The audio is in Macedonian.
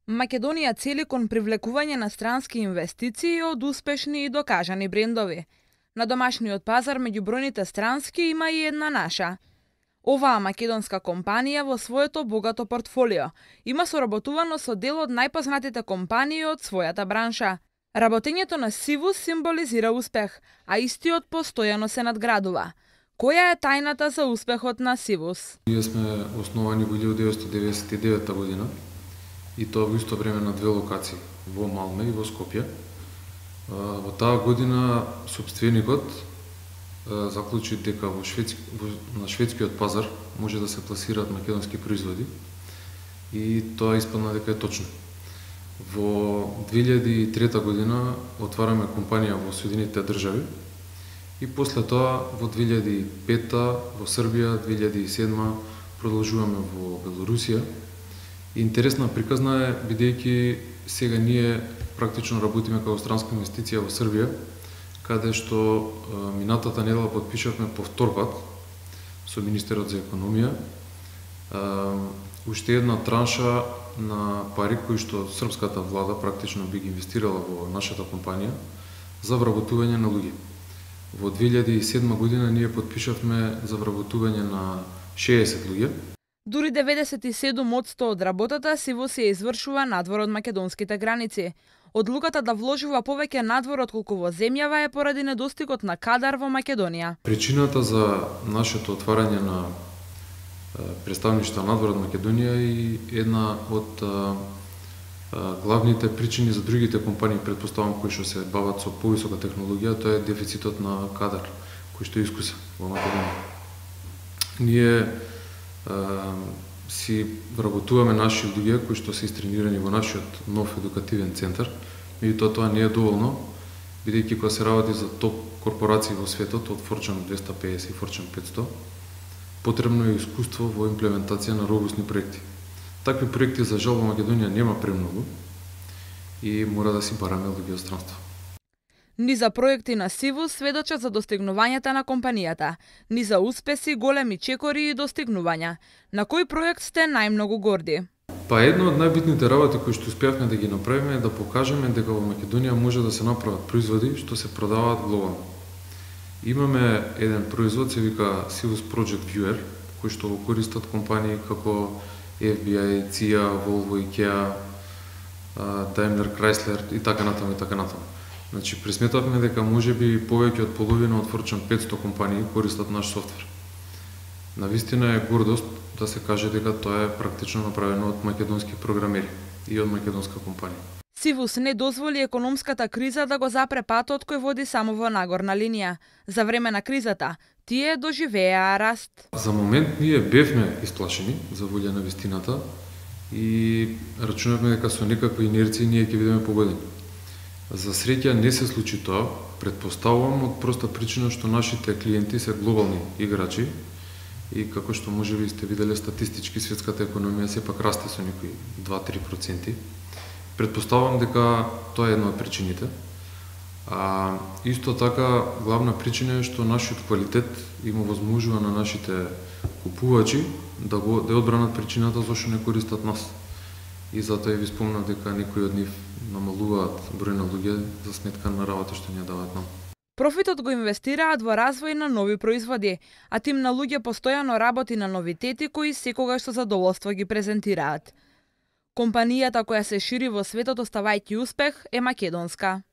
Македонија цели кон привлекување на странски инвестиции од успешни и докажани брендови. На домашниот пазар меѓу бројните странски има и една наша. Оваа македонска компанија во своето богато портфолио има соработувано со дел од најпознатите компании од својата бранша. Работењето на Сивус символизира успех, а истиот постојано се надградува. Која е тајната за успехот на Сивус? Ние сме основани во 1999 година и тоа во исто време на две локации, во Малме и во Скопје. Во таа година сопственикот заклучи дека на шведскиот пазар може да се пласираат македонски производи и тоа испадна дека е точно. Во 2003 година отвараме компанија во Соединетите држави и после тоа во 2005 во Србија, 2007 продолжуваме во Белорусија. Интересна приказна е, бидејќи сега ние практично работиме како странска инвестиција во Србија, каде што минатата недела потпишавме повтор пат со министерот за економија уште една транша на пари кои што српската влада практично би ги инвестирала во нашата компанија за вработување на луѓе. Во 2007 година ние потпишавме за вработување на 60 луѓе. Дури 97% од работата Сивус се извршува надвор од македонските граници. Одлуката да вложува повеќе надвор отколку во земјава е поради недостигот на кадар во Македонија. Причината за нашето отварање на представништва надвор од Македонија и една од главните причини за другите компании, предпоставам, кои што се бават со повисока технологија, тоа е дефицитот на кадар, кој што искуса во Македонија. Ние си вработуваме наши луѓе кои што се истренирани во нашиот нов едукативен центар, меѓутоа тоа не е доволно, бидејќи кога се работи за топ корпорации во светот, од Fortune 250 и Fortune 500, потребно е искуство во имплементација на робусни проекти. Такви проекти за жал во Македонија нема премногу и мора да си бараме луѓе од странство. Ни за проекти на Сивус сведочат за достигнувањата на компанијата, ни за успеси, големи чекори и достигнувања. На кој проект сте најмногу горди? Па една од најбитните работи кои што успеавме да ги направиме е да покажеме дека во Македонија може да се направат производи што се продаваат глобално. Имаме еден производ, се вика Sivus Project Viewer, кој што го користат компании како FBI, CIA, Volvo, IKEA, Daimler, Chrysler и така натаму и така натаму. Значи, пресметавме дека можеби повеќе од половина од Fortune 500 компании користат наш софтвер. Навистина е гордост да се каже дека тоа е практично направено од македонски програмери и од македонска компанија. Сивус не дозволи економската криза да го запре патот кој води само во нагорна линија. За време на кризата, тие доживеа раст. За момент ние бевме исплашени за волја на вистината и рачунавме дека со некаква инерција ние ќе бидеме погодени. За среќа не се случи тоа, предпоставувам од проста причина што нашите клиенти се глобални играчи и како што можеби сте виделе статистички светската економија сепак расте со некои 2-3%. Предпоставувам дека тоа е една од причините. Исто така, главна причина е што нашиот квалитет има возможува на нашите купувачи да одбранат причината зашто не користат нас. И затоа ви спомнав дека некои од нив намалуваат број на луѓе за сметка на работа што ни даваат нам. Профитот го инвестираат во развој на нови производи, а тим на луѓе постојано работи на новитети кои секогаш со задоволство ги презентираат. Компанијата која се шири во светот оставајќи успех е македонска.